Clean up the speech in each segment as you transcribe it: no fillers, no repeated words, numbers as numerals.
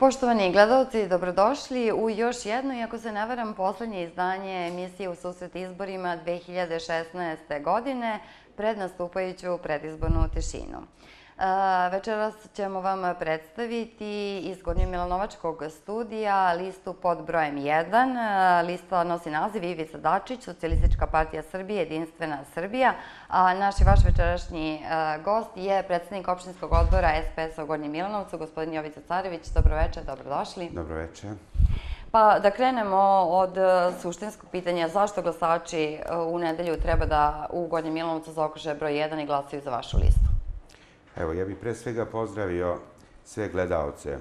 Poštovani gledalci, dobrodošli u još jedno, iako se ne varam, poslednje izdanje emisije U susret izborima 2016. godine pred nastupajuću predizbornu tišinu. Večeras ćemo vam predstaviti iz Gornjomilanovačkog studija listu pod brojem 1. Lista nosi naziv Ivica Dačić, Socijalistička partija Srbije, Jedinstvena Srbija. A naš i vaš večerašnji gost je predsednik opštinskog odbora SPS-a u Gornjem Milanovcu, gospodin Jovica Carević. Dobroveče, dobrodošli. Dobroveče. Pa da krenemo od suštinskog pitanja. Zašto glasači u nedelju treba da u Gornjem Milanovcu zaokruže broj 1 i glasaju za vašu listu? Evo, ja bih pre svega pozdravio sve gledaoce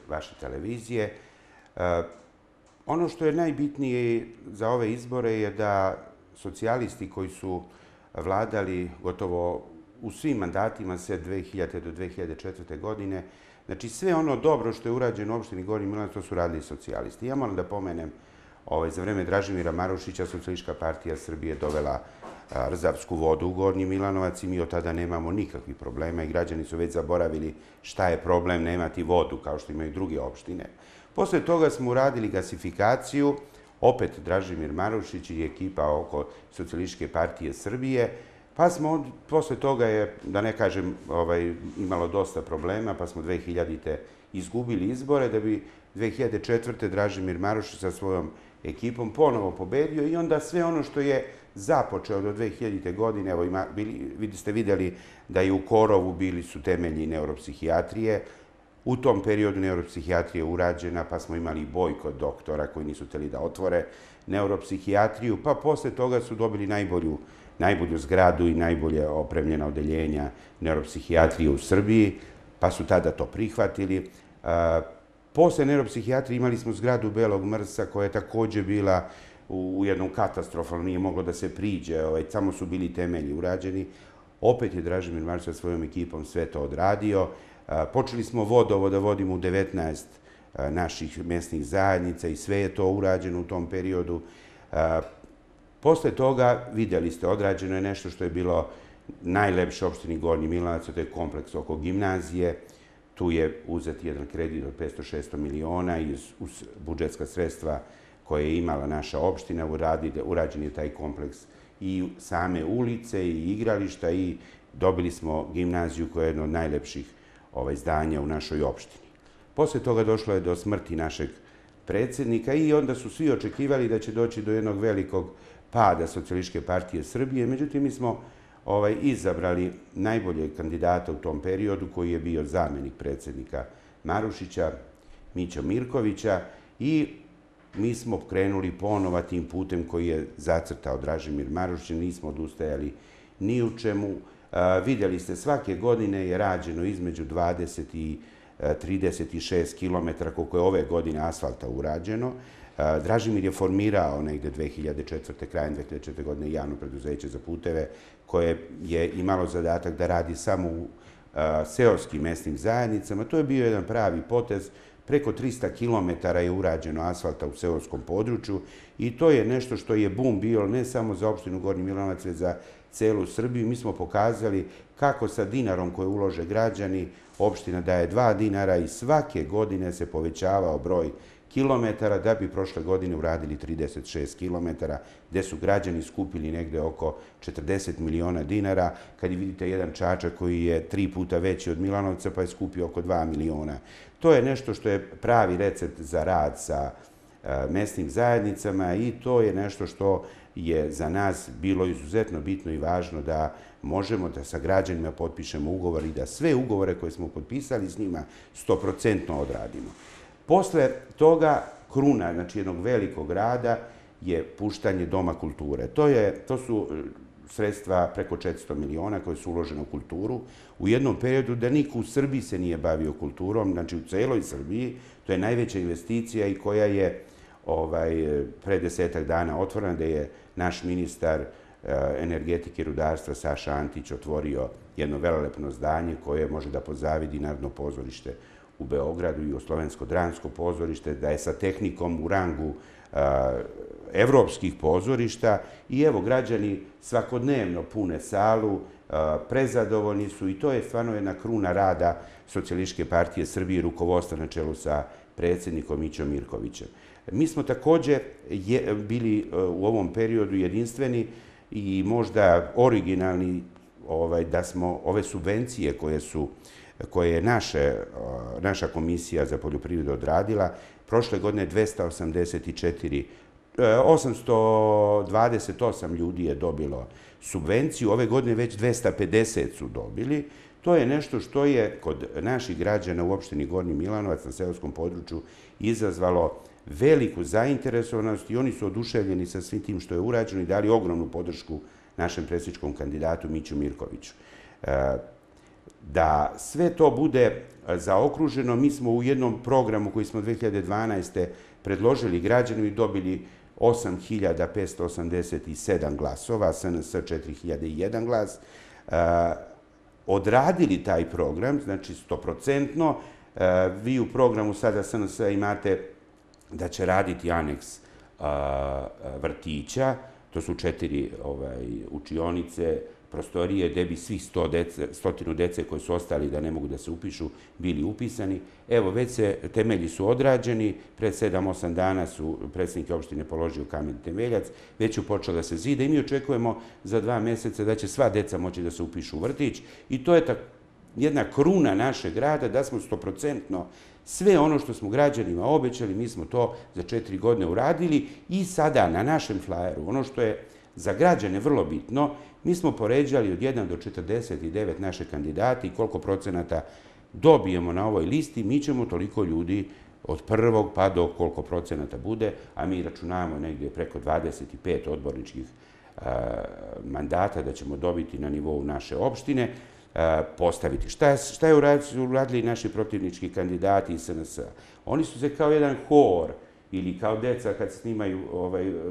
vaše televizije. Ono što je najbitnije za ove izbore je da socijalisti koji su vladali gotovo u svim mandatima sve 2000. do 2004. godine, znači sve ono dobro što je urađeno u opštini Gornji Milanovac, to su radili socijalisti. Ja moram da pomenem, za vreme Dražimira Marušića, Socijalistička partija Srbije dovela rzavsku vodu u Gornji Milanovac i mi od tada nemamo nikakvih problema i građani su već zaboravili šta je problem nemati vodu, kao što imaju druge opštine. Posle toga smo uradili gasifikaciju, opet Dražimir Marušić i ekipa oko Socijalističke partije Srbije, pa smo posle toga je, da ne kažem, imalo dosta problema, pa smo 2000. izgubili izbore, da bi 2004. Dražimir Marušić sa svojom ekipom ponovo pobedio i onda sve ono što je započeo do 2000. godine, evo ste videli da i u Korovu bili su temelji neuropsihijatrije. U tom periodu neuropsihijatrija je urađena, pa smo imali i bojkot doktora koji nisu hteli da otvore neuropsihijatriju, pa posle toga su dobili najbolju zgradu i najbolje opremljena odeljenja neuropsihijatrije u Srbiji, pa su tada to prihvatili. Posle neuropsihijatrije imali smo zgradu Belog Mrsa koja je takođe bila u jednom katastrofalnom, nije moglo da se priđe, samo su bili temelji urađeni. Opet je Dražimir Marušić sa svojom ekipom sve to odradio. Počeli smo vodovo da vodimo u 19 naših mesnih zajednica i sve je to urađeno u tom periodu. Posle toga, videli ste, odrađeno je nešto što je bilo najlepše u opštini Gornji Milanovac, to je kompleks oko gimnazije. Tu je uzet jedan kredit od 500-600 miliona uz budžetska sredstva koje je imala naša opština, urađen je taj kompleks i same ulice i igrališta i dobili smo gimnaziju koja je jedno od najlepših zdanja u našoj opštini. Posle toga došlo je do smrti našeg predsednika i onda su svi očekivali da će doći do jednog velikog pada Socijalističke partije Srbije. Međutim, mi smo izabrali najboljeg kandidata u tom periodu koji je bio zamenik predsednika Marušića, Mićo Mirkovića, i mi smo krenuli ponovo tim putem koji je zacrtao Dražimir Marušić, nismo odustajali ni u čemu. Videli ste, svake godine je rađeno između 20 i 36 kilometara, koliko je ove godine asfalta urađeno. Dražimir je formirao negde 2004. krajem 2004. godine javno preduzeće za puteve koje je imalo zadatak da radi samo u seoskim mesnim zajednicama. To je bio jedan pravi potez. Preko 300 kilometara je urađeno asfalta u seoskom području i to je nešto što je bum bio ne samo za opštinu Gornji Milanovac, već za celu Srbiju. Mi smo pokazali kako sa dinarom koje ulože građani, opština daje 2 dinara i svake godine se povećavao broj kilometara da bi prošle godine uradili 36 kilometara, gde su građani skupili negde oko 40 miliona dinara. Kad vidite jedan Čačak koji je 3 puta veći od Milanovca, pa je skupio oko 2 miliona. To je nešto što je pravi recept za rad sa mesnim zajednicama i to je nešto što je za nas bilo izuzetno bitno i važno da možemo da sa građanima potpišemo ugovor i da sve ugovore koje smo potpisali s njima 100% odradimo. Posle toga kruna, znači jednog velikog rada, je puštanje Doma kulture. To su sredstva preko 400 miliona koje su uložene u kulturu u jednom periodu da niko u Srbiji se nije bavio kulturom, znači u celoj Srbiji. To je najveća investicija i koja je pre 10 dana otvorena, da je naš ministar energetike i rudarstva Saša Antić otvorio jedno velelepno zdanje koje može da pozavidi Narodno pozorište u Beogradu i Jugoslovensko dramsko pozorište, da je sa tehnikom u rangu evropskih pozorišta i evo, građani svakodnevno pune salu, prezadovoljni su i to je stvarno jedna kruna rada Socijalističke partije Srbije i rukovodstva na čelu sa predsjednikom Mićom Mirkovićem. Mi smo također bili u ovom periodu jedinstveni i možda originalni da smo ove subvencije koje je naša Komisija za poljoprivredu odradila, prošle godine 828 ljudi je dobilo subvenciju, ove godine već 250 su dobili. To je nešto što je kod naših građana u opštini Gornji Milanovac na seoskom području izazvalo veliku zainteresovanost i oni su oduševljeni sa svim tim što je urađeno i dali ogromnu podršku našem predsjedničkom kandidatu Miću Mirkoviću. Da sve to bude zaokruženo, mi smo u jednom programu koji smo 2012. predložili građanima i dobili 8.587 glasova, SNS 4.001 glas, odradili taj program, znači 100%. Vi u programu sada SNS imate da će raditi aneks vrtića, to su 4 učionice, prostorije gde bi svih 100 dece koji su ostali da ne mogu da se upišu bili upisani. Evo, već temelji su odrađeni, pred 7-8 dana su predsjednik opštine položio kamen temeljac, već je počelo da se zida i mi očekujemo za 2 meseca da će sva deca moći da se upišu u vrtić i to je jedna kruna našeg grada da smo 100% sve ono što smo građanima obećali, mi smo to za 4 godine uradili i sada na našem flajeru, ono što je za građane vrlo bitno, mi smo poređali od 1 do 49 naše kandidate i koliko procenata dobijemo na ovoj listi, mi ćemo toliko ljudi od prvog pa do koliko procenata bude, a mi računamo negdje preko 25 odborničkih mandata da ćemo dobiti na nivou naše opštine, postaviti. Šta je uradili naši protivnički kandidati iz SNS-a? Oni su se kao jedan hor ili kao deca kad snimaju,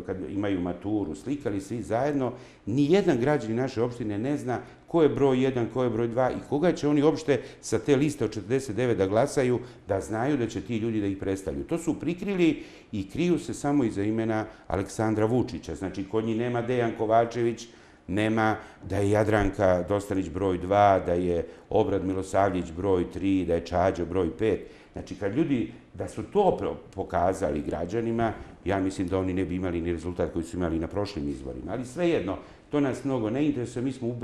kad imaju maturu, slikali svi zajedno. Nijedan građanin naše opštine ne zna ko je broj 1, ko je broj 2 i koga će oni uopšte sa te liste od 49 da glasaju, da znaju da će ti ljudi da ih predstavljaju. To su prikrili i kriju se samo iza imena Aleksandra Vučića. Znači, kod njih nema Dejan Kovačević, nema da je Jadranka Dostanić broj 2, da je Obrad Milosavljević broj 3, da je Čađa broj 5. Znači, kad ljudi, da su to pokazali građanima, ja mislim da oni ne bi imali ni rezultat koji su imali na prošlim izborima. Ali svejedno, to nas mnogo ne interesuje. Mi smo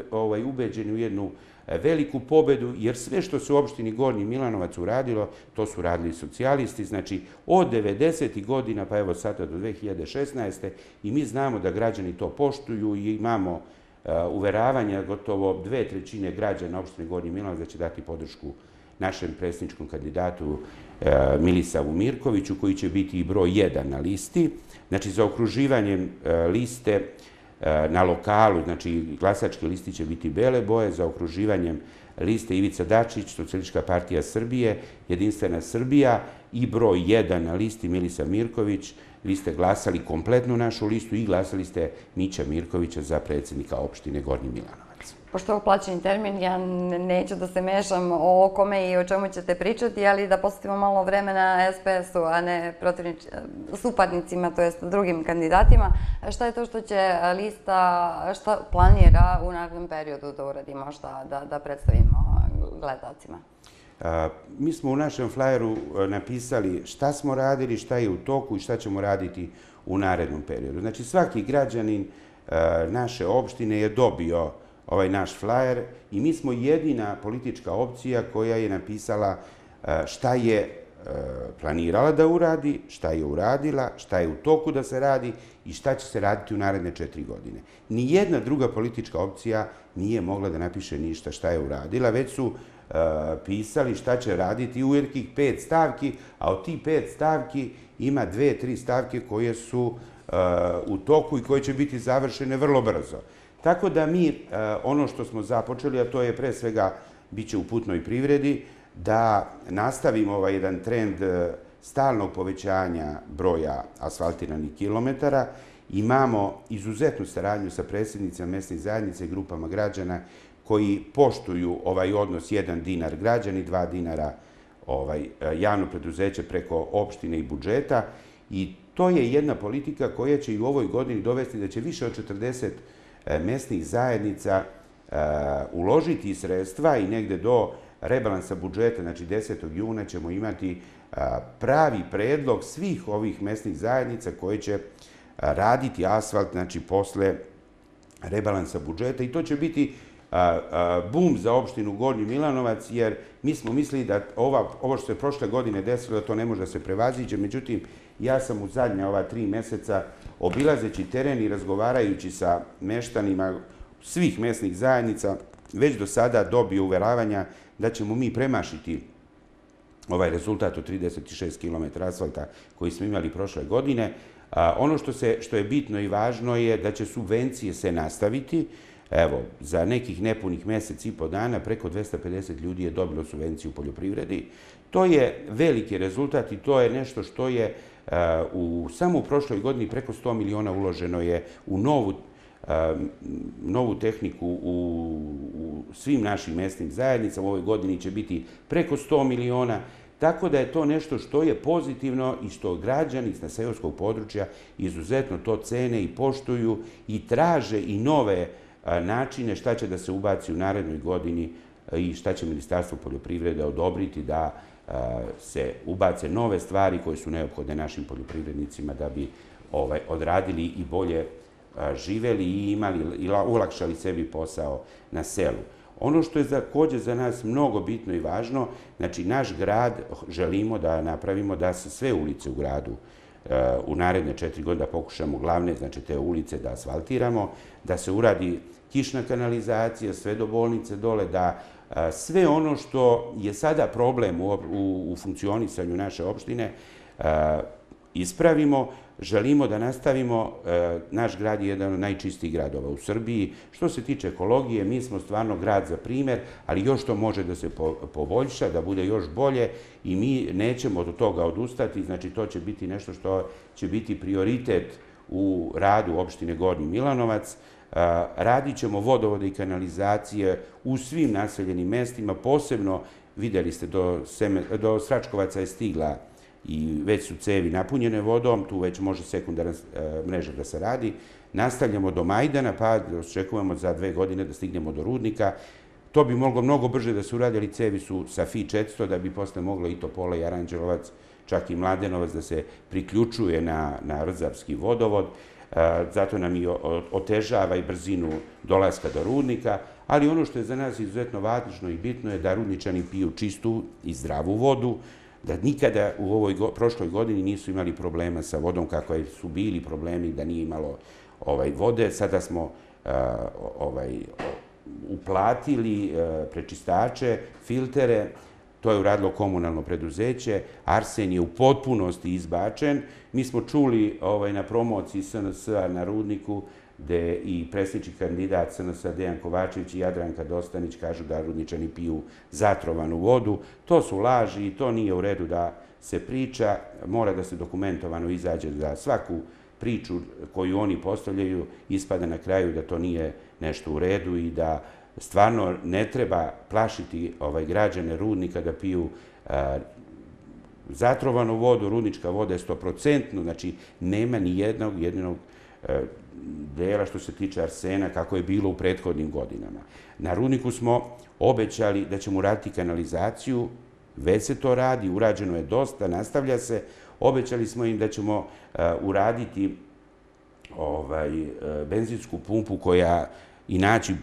ubeđeni u jednu veliku pobedu, jer sve što se u opštini Gornji Milanovac uradilo, to su radili socijalisti. Znači, od 90. godina, pa evo sada do 2016. i mi znamo da građani to poštuju i imamo uveravanja gotovo 2/3 građana opštine Gornji Milanovac da će dati podršku našem predsjedničkom kandidatu Milisavu Mirkoviću, koji će biti i broj 1 na listi. Znači, za okruživanjem liste na lokalu, znači glasačke listi će biti bele boje, za okruživanjem liste Ivica Dačić, Socijalistička partija Srbije, Jedinstvena Srbija i broj 1 na listi Milisav Mirković. Vi ste glasali kompletnu našu listu i glasali ste Mića Mirkovića za predsjednika opštine Gornji Milanovac. Pošto je ovo plaćeni termin, ja neću da se mešam o kome i o čemu ćete pričati, ali da posvetimo malo vremena SPS-u, a ne suparnicima, to jest drugim kandidatima. Šta je to što će lista, šta planira u narednom periodu da uradi možda, da predstavimo gledalcima? Mi smo u našem flajeru napisali šta smo radili, šta je u toku i šta ćemo raditi u narednom periodu. Znači, svaki građanin naše opštine je dobio ovaj naš flajer i mi smo jedina politička opcija koja je napisala šta je planirala da uradi, šta je uradila, šta je u toku da se radi i šta će se raditi u naredne 4 godine. Nijedna druga politička opcija nije mogla da napiše ništa šta je uradila, već su pisali šta će raditi u nekih 5 stavki, a od tih 5 stavki ima 2-3 stavke koje su u toku i koje će biti završene vrlo brzo. Tako da mi ono što smo započeli, a to je pre svega biće u putnoj privredi, da nastavimo ovaj jedan trend stalnog povećanja broja asfaltiranih kilometara. Imamo izuzetnu saradnju sa predsjednicima mesnih zajednica i grupama građana koji poštuju ovaj odnos 1 dinar građani, 2 dinara javno preduzeće preko opštine i budžeta i to je jedna politika koja će i u ovoj godini dovesti da će više od 40 mesnih zajednica uložiti sredstva i negde do rebalansa budžeta, znači 10. juna ćemo imati pravi predlog svih ovih mesnih zajednica koje će raditi asfalt, znači posle rebalansa budžeta, i to će biti bum za opštinu Gornji Milanovac, jer mi smo mislili da ovo što se prošle godine desilo, da to ne može da se prevaziđe. Međutim, ja sam u zadnja ova 3 meseca, obilazeći teren i razgovarajući sa meštanima svih mesnih zajednica, već do sada dobio uveravanja da ćemo mi premašiti ovaj rezultat od 36 km asfalta koji smo imali prošle godine. Ono što je bitno i važno je da će subvencije se nastaviti. Evo, za nekih nepunih mesec i po dana preko 250 ljudi je dobilo subvenciju u poljoprivredi. To je veliki rezultat i to je nešto što je samo u prošloj godini preko 100 miliona uloženo je u novu tehniku u svim našim mesnim zajednicama. U ovoj godini će biti preko 100 miliona. Tako da je to nešto što je pozitivno i što građani sa seoskog područja izuzetno to cene i poštuju i traže i nove načine šta će da se ubaci u narednoj godini i šta će Ministarstvo poljoprivrede odobriti da se ubace nove stvari koje su neophodne našim poljoprivrednicima da bi odradili i bolje živeli i ulakšali sebi posao na selu. Ono što je takođe za nas mnogo bitno i važno, znači naš grad želimo da napravimo da se sve ulice u gradu u naredne 4 godine da pokušamo glavne, znači te ulice da asfaltiramo, da se uradi kišna kanalizacija, sve do bolnice dole, da sve ono što je sada problem u funkcionisanju naše opštine ispravimo. Želimo da nastavimo, naš grad je jedan od najčistijih gradova u Srbiji. Što se tiče ekologije, mi smo stvarno grad za primer, ali još to može da se poboljša, da bude još bolje i mi nećemo od toga odustati, znači to će biti nešto što će biti prioritet u radu opštine Gornji Milanovac. Radit ćemo vodovode i kanalizacije u svim naseljenim mestima, posebno, videli ste, do Sračkovaca je stigla i već su cevi napunjene vodom, tu već može sekundarna mreža da se radi. Nastavljamo do Majdana, pa očekujemo za 2 godine da stignemo do Rudnika. To bi moglo mnogo brže da se uradi, ali cevi su sa FI 400, da bi posle moglo i Topola i Aranđelovac, čak i Mladenovac da se priključuje na Rdzavski vodovod. Zato nam i otežava i brzinu dolaska do Rudnika, ali ono što je za nas izuzetno važno i bitno je da Rudničani piju čistu i zdravu vodu, da nikada u ovoj prošloj godini nisu imali problema sa vodom kako su bili problemi da nije imalo vode. Sada smo uplatili prečistače, filtere, to je uradilo komunalno preduzeće, arsen je u potpunosti izbačen. Mi smo čuli na promociji SNS-a na Rudniku gde i predsjednički kandidat SNS-a Dejan Kovačević i Jadranka Dostanić kažu da Rudničani piju zatrovanu vodu. To su laži i to nije u redu da se priča. Mora da se dokumentovano izađe da svaku priču koju oni postavljaju ispada na kraju da to nije nešto u redu i da stvarno ne treba plašiti građane Rudnika da piju zatrovanu vodu. Rudnička voda je 100%, znači nema ni jedinog dela što se tiče arsena kako je bilo u prethodnim godinama. Na Rudniku smo obećali da ćemo uraditi kanalizaciju, već se to radi, urađeno je dosta, nastavlja se. Obećali smo im da ćemo uraditi benzinsku pumpu i naći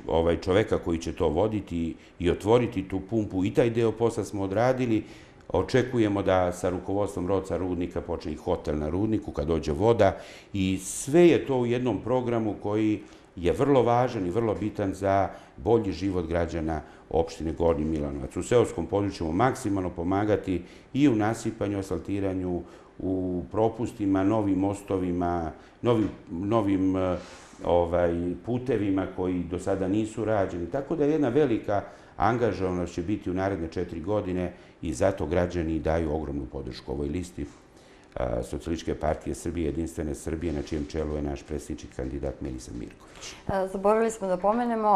čoveka koji će to voditi i otvoriti tu pumpu. I taj deo posla smo odradili. Očekujemo da sa rukovodstvom ROC-a Rudnika počne i hotel na Rudniku kad dođe voda i sve je to u jednom programu koji je vrlo važan i vrlo bitan za bolji život građana opštine Gornji Milanovac. U seoskom području ćemo maksimalno pomagati i u nasipanju, asfaltiranju, u propustima, novim mostovima, novim putevima koji do sada nisu rađeni. Tako da jedna velika angažovanost će biti u naredne 4 godine i zato građani daju ogromnu podršku ovoj listi Socijalističke partije Srbije, Jedinstvene Srbije, na čijem čelu je naš predsjednički kandidat Milisav Mirković. Zaboravili smo da pomenemo,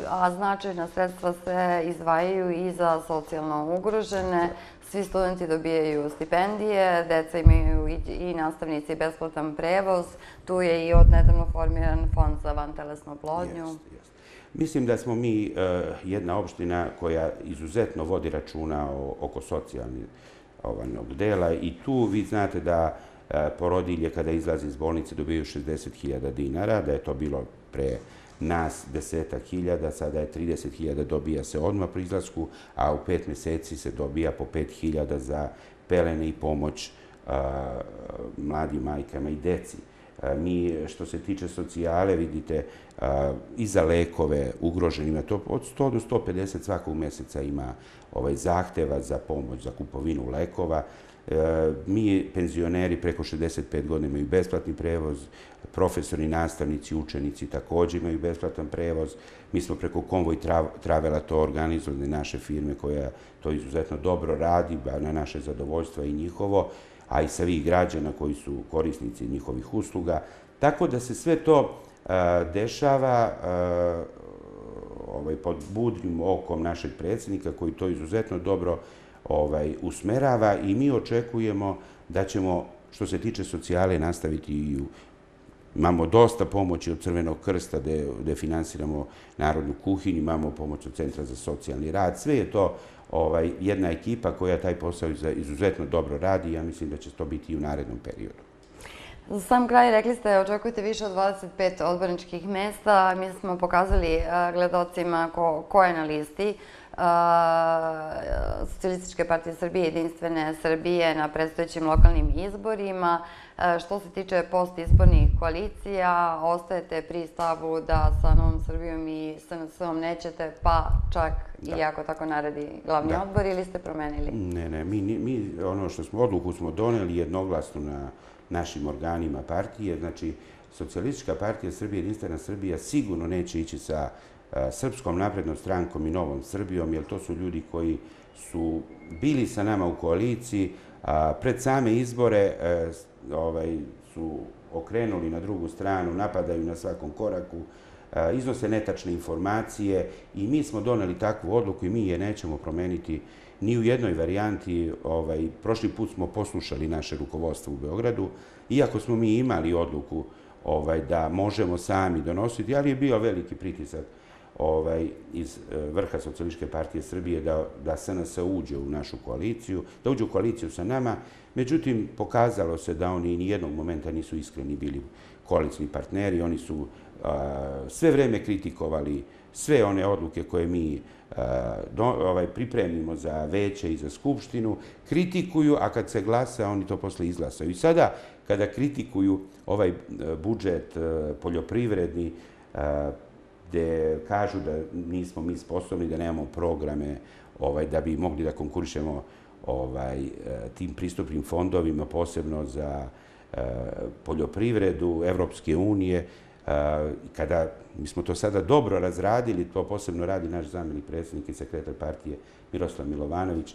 a značajna sredstva se izdvajaju i za socijalno ugrožene. svi studenti dobijaju stipendije, deca imaju i nastavnici besplatan prevoz, tu je i odnedavno formiran fond za vantelesnu oplodnju. Mislim da smo mi jedna opština koja izuzetno vodi računa oko socijalnog dela i tu vi znate da porodilje kada izlaze iz bolnice dobiju 60.000 dinara, da je to bilo pre nas 10.000, sada je 30.000, dobija se odmah pri izlasku, a u 5 meseci se dobija po 5.000 za pelene i pomoć mladim majkama i deci. Mi, što se tiče socijale, vidite, i za lekove ugroženima, to od 100 do 150 svakog meseca ima zahteva za pomoć, za kupovinu lekova. Mi, penzioneri preko 65 godina, imaju besplatni prevoz, profesori, nastavnici, učenici također imaju besplatan prevoz. Mi smo preko Konvoj Travela to organizovali, naše firme koja to izuzetno dobro radi, na naše zadovoljstva i njihovo, a i svih građana koji su korisnici njihovih usluga. Tako da se sve to dešava pod budnim okom našeg predsjednika koji to izuzetno dobro usmerava i mi očekujemo da ćemo, što se tiče socijale, nastaviti i imamo dosta pomoći od Crvenog krsta gde finansiramo Narodnu kuhinju, imamo pomoć od Centra za socijalni rad. Sve je to jedna ekipa koja taj posao izuzetno dobro radi i ja mislim da će to biti i u narednom periodu. Za sam kraj rekli ste očekujete više od 25 odborničkih mesta. Mi smo pokazali gledalcima ko je na listi Socijalističke partije Srbije, Jedinstvene Srbije na predstojećim lokalnim izborima. Što se tiče postizbornih koalicija, ostajete pri stavu da sa Novom Srbijom i SNS-om nećete, pa čak i ako tako naredi glavni odbor, ili ste promenili? Ne, mi odluku smo doneli jednoglasno na našim organima partije. Znači, Socijalistička partija Srbije, Jedinstvena Srbija sigurno neće ići sa Srpskom naprednom strankom i Novom Srbijom, jer to su ljudi koji su bili sa nama u koaliciji, a pred same izbore su okrenuli na drugu stranu, napadaju na svakom koraku, iznose netačne informacije i mi smo doneli takvu odluku i mi je nećemo promeniti ni u jednoj varijanti. Prošli put smo poslušali naše rukovodstvo u Beogradu, iako smo mi imali odluku da možemo sami donositi, ali je bio veliki pritisak iz vrha Socijalističke partije Srbije da SNS uđe u našu koaliciju, da uđe u koaliciju sa nama. Međutim, pokazalo se da oni nijednog momenta nisu iskreni bili koalicijni partneri. Oni su sve vreme kritikovali sve one odluke koje mi pripremimo za veće i za skupštinu, kritikuju, a kad se glasa, oni to posle izglasaju. I sada, kada kritikuju ovaj budžet poljoprivredni, gde kažu da nismo mi sposobni, da nemamo programe da bi mogli da konkurišemo tim pristupnim fondovima, posebno za poljoprivredu Evropske unije. Kada mi smo to sada dobro razradili, to posebno radi naš zamjenik predsjednik i sekretar partije Miroslav Milovanović,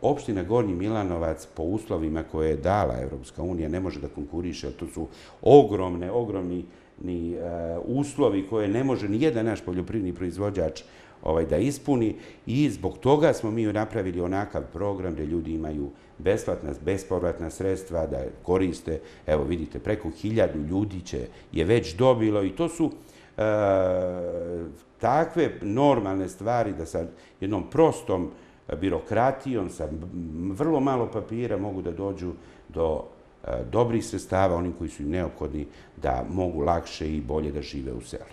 opština Gornji Milanovac po uslovima koje je dala Evropska unija ne može da konkuriše, to su ogromni uslovi koje ne može ni jedan naš poljoprivredni proizvođač da ispuni i zbog toga smo mi napravili onakav program gde ljudi imaju bespovratna sredstva da koriste. Evo vidite, preko 1000 ljudi je već dobilo i to su takve normalne stvari da sa jednom prostom birokratijom, sa vrlo malo papira mogu da dođu do dobrih sredstava, onim koji su im neophodni da mogu lakše i bolje da žive u selu.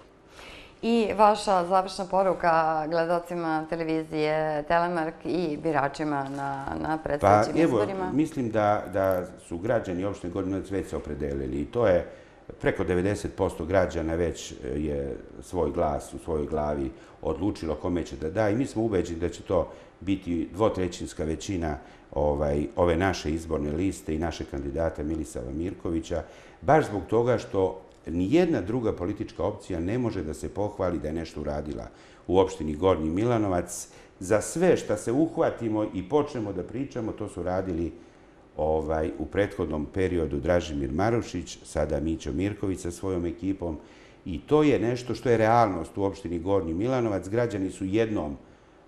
I vaša završna poruka gledalcima televizije Telemark i biračima na predstojećim izborima? Evo, mislim da su građani opštine Gornji Milanovac već se opredelili i to je preko 90% građana već je svoj glas u svojoj glavi odlučilo kome će da da i mi smo ubeđeni da će to biti dvotrećinska većina ove naše izborne liste i naše kandidata Milisava Mirkovića, baš zbog toga što nijedna druga politička opcija ne može da se pohvali da je nešto uradila u opštini Gornji Milanovac. Za sve što se uhvatimo i počnemo da pričamo, to su radili u prethodnom periodu Dražimir Marušić, sada Mićo Mirković sa svojom ekipom i to je nešto što je realnost u opštini Gornji Milanovac. Građani su jednom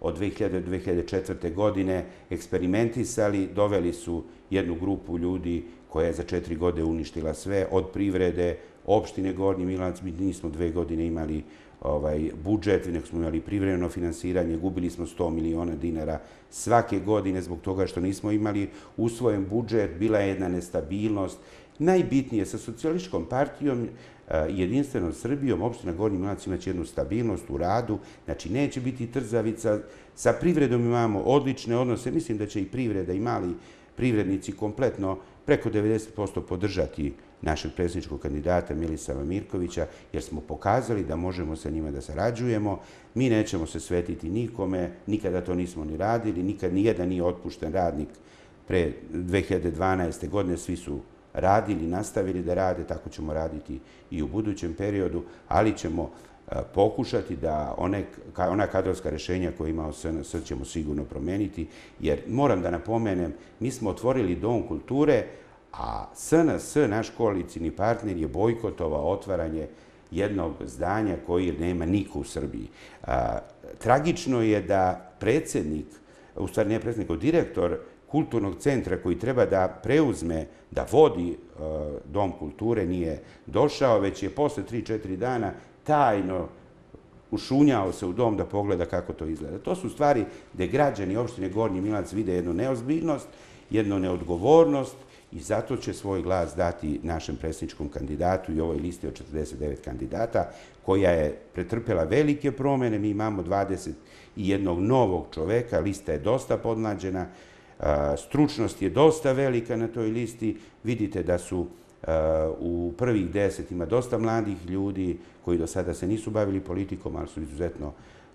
od 2000. do 2004. godine eksperimentisali, doveli su jednu grupu ljudi koja je za 4 godine uništila sve, od privrede, opštine Gornji Milanac. Mi nismo 2 godine imali budžet, nego smo imali privremeno finansiranje, gubili smo 100 miliona dinara svake godine zbog toga što nismo imali usvojen budžet, bila je jedna nestabilnost. Najbitnije, sa socijalističkom partijom, Jedinstvenom Srbijom, opština Gornji Milanac imaće jednu stabilnost u radu, znači neće biti trzavica. Sa privredom imamo odlične odnose, mislim da će i privreda i mali privrednici kompletno preko 90% podržati našeg predsjedničkog kandidata Milisava Mirkovića, jer smo pokazali da možemo sa njima da sarađujemo. Mi nećemo se svetiti nikome, nikada to nismo ni radili, nikad nijedan nije otpušten radnik pre 2012. godine, svi su radili, nastavili da rade, tako ćemo raditi i u budućem periodu, ali ćemo pokušati da ona kadrovska rešenja koje imao SNS ćemo sigurno promeniti, jer moram da napomenem, mi smo otvorili Dom kulture, a SNS, naš koalicioni partner, je bojkotovao otvaranje jednog zdanja koji nema niko u Srbiji. Tragično je da predsednik, u stvari ne predsednik, nego direktor kulturnog centra koji treba da preuzme, da vodi Dom kulture, nije došao, već je posle 3-4 dana tajno ušunjao se u dom da pogleda kako to izgleda. To su stvari gde građani opštine Gornji Milanac vide jednu neozbiljnost, jednu neodgovornost i zato će svoj glas dati našem predsjedničkom kandidatu i ovoj listi od 49 kandidata, koja je pretrpela velike promene. Mi imamo 21 novog čoveka, lista je dosta podmlađena, stručnost je dosta velika na toj listi. Vidite da su u prvih 10 ima dosta mladih ljudi koji do sada se nisu bavili politikom, ali su izuzetno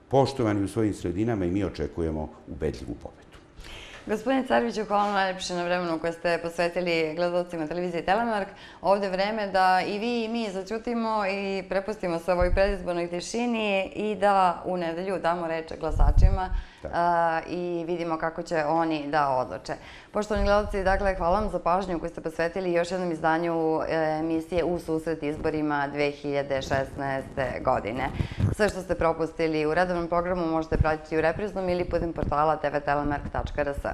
poštovani u svojim sredinama i mi očekujemo ubedljivu pobedu. Gospodine Careviću, hvala vam najlepše na vremenu koje ste posvetili gledalcima televizije Telemark. Ovde je vreme da i vi i mi začutimo i prepustimo se ovoj predizbornoj tišini i da u nedelju damo reč glasačima i vidimo kako će oni da odluče. Poštovani gledalci, dakle, hvala vam za pažnju koju ste posvetili još jednom izdanju emisije U susret izborima 2016. godine. Sve što ste propustili u redovnom programu možete pratiti u repriznom ili putem portala tvtelemark.rs.